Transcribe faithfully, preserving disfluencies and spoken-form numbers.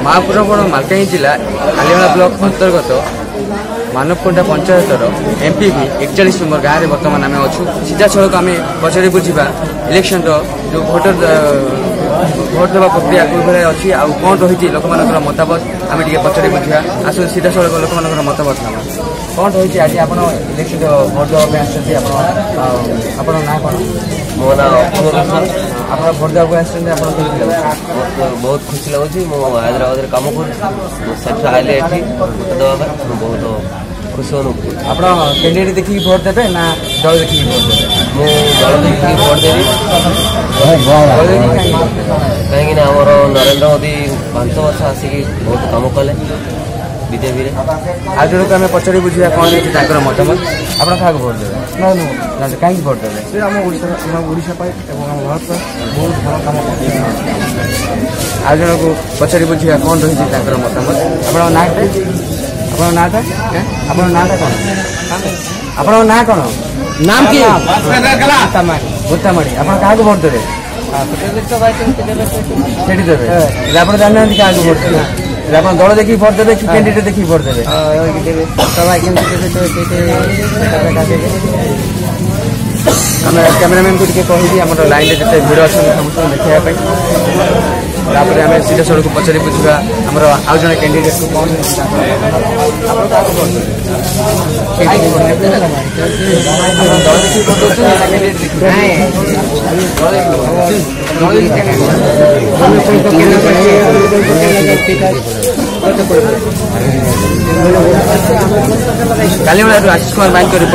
ମହାପ୍ରବଣ ମାଲକାନଗିରି ଜିଲ୍ଲା କାଲିମେଳା ବ୍ଲକ ଅନ୍ତର୍ଗତ ମାନବକୋଣ୍ଡା ପଞ୍ଚାୟତର ଏମ୍ପିଭି ଏକଚାଳିଶ ନମ୍ବର ଗାଁରେ ବର୍ତ୍ତମାନ ଆମେ ଅଛୁ। ସିଧାସଳଖ ଆମେ ପଚାରି ବୁଝିବା ଇଲେକ୍ସନର ଯେଉଁ ଭୋଟର ଭୋଟ ଦେବା ପ୍ରକ୍ରିୟା କେଉଁଭଳିଆ ଅଛି ଆଉ କ'ଣ ରହିଛି ଲୋକମାନଙ୍କର ମତାମତ, ଆମେ ଟିକେ ପଚାରି ବୁଝିବା। ଆସନ୍ତୁ ସିଧାସଳଖ ଲୋକମାନଙ୍କର ମତାମତ ନେବା। କ'ଣ ରହିଛି ଆଜି ଆପଣ ଇଲେକ୍ସନ ଭୋଟ ଦେବା ପାଇଁ ଆସିଛନ୍ତି, ଆପଣ ଆପଣଙ୍କ ନାଁ କ'ଣ? ମୋ ନାଁ ଅପୂର୍ବ ବିଶ୍ୱାଳ। ଆପଣ ଭୋଟ ଦେବାକୁ ଆସିଛନ୍ତି, ଆପଣ କେମିତି ଲାଗୁଛି? ମୋତେ ବହୁତ ଖୁସି ଲାଗୁଛି। ମୁଁ ହାଇଦ୍ରାବାଦରେ କାମ କରୁଛି, ମୁଁ ସେଠୁ ଆଇଲି ଏଠି ଭୋଟ ଦେବା ପାଇଁ। ମୁଁ ବହୁତ ଖୁସି ଅନୁଭବ କରୁଛି। ଆପଣ କ୍ୟାଣ୍ଡିଡେଟ୍ ଦେଖିକି ଭୋଟ ଦେବେ ନା ଦଳ ଦେଖିକି ଭୋଟ ଦେବେ? ମୁଁ ଦଳ ଦେଖିକି ଭୋଟ ଦେବି। ଦଳ ଦେଖିକି କାହିଁକି ଭୋଟ ଦେବେ? କାହିଁକିନା ଆମର ନରେନ୍ଦ୍ର ମୋଦି ପାଞ୍ଚ ବର୍ଷ ଆସିକି ବହୁତ କାମ କଲେ ବିଜେପିରେ। ଆଉ ଜଣକୁ ଆମେ ପଚାରି ବୁଝିବା କ'ଣ ହେଇଛି ତାଙ୍କର ମତାମତ। ଆପଣ କାହାକୁ ଭୋଟ ଦେବେ? ନା, କାହିଁକି ଭୋଟ ଦେବେ? ସେ ଆମ ଓଡ଼ିଶା, ଆମ ଓଡ଼ିଶା ପାଇଁ ଏବଂ ଆମ ଭାରତ ପାଇଁ ବହୁତ ଭଲ କାମ କରୁଛନ୍ତି। ଆଉ ଜଣକୁ ପଚାରି ବୁଝିବା କ'ଣ ରହିଛି ତାଙ୍କର ମତାମତ। ଆପଣଙ୍କ ନାଁଟା? ଆପଣଙ୍କ ନାଁଟା? ଆପଣଙ୍କ ନାଁଟା କ'ଣ? ଆପଣଙ୍କ ନାଁ କ'ଣ? ନାମ କି? ଭୂତାମାଡ଼ି। ଆପଣ କାହାକୁ ଭୋଟ ଦେବେ? ସେଠି ଦେବେ। ହେଲେ ଆପଣ ଜାଣିନାହାନ୍ତି କାହାକୁ ଭୋଟ ଦେବେ। ହେଲେ ଆପଣ ଦଳ ଦେଖିକି ଭୋଟ ଦେବେ କି କ୍ୟାଣ୍ଡିଡେଟ୍ ଦେଖିକି ଭୋଟ ଦେବେ? ଆମେ କ୍ୟାମେରାମ୍ୟାନକୁ ଟିକେ କହିବି ଆମର ଲାଇନରେ ଯେତେ ଭିଡ଼ ଅଛନ୍ତି ସମସ୍ତଙ୍କୁ ଦେଖାଇବା ପାଇଁ। ତାପରେ ଆମେ ସିଧାସଳଖ ପଚାରି ବୁଝିବା ଆମର ଆଉ ଜଣେ କ୍ୟାଣ୍ଡିଡେଟ୍କୁ କ'ଣ ରହିଛି ତାଙ୍କର ମତାମତ। ଆପଣ କାହାକୁ ଭୋଟ ଦେବେ? କାହିଁକି ଭୋଟ ଦେବେ? ଆପଣ ଦଳ ଦେଖିକି ଭୋଟ ଦେଉଛନ୍ତି ନା କ୍ୟାଣ୍ଡିଡେଟ୍ ଦେଖିକି? ଦଳ ଦେଖିକି ଭୋଟ ଦେବେ। ଦଳ ଦେଖିକି କାହିଁକି ଭୋଟ ଦେବେ? କାଲିମେଳାରୁ ଆଶିଷ କୁମାର ମାଇଙ୍କ ରିପୋର୍ଟ।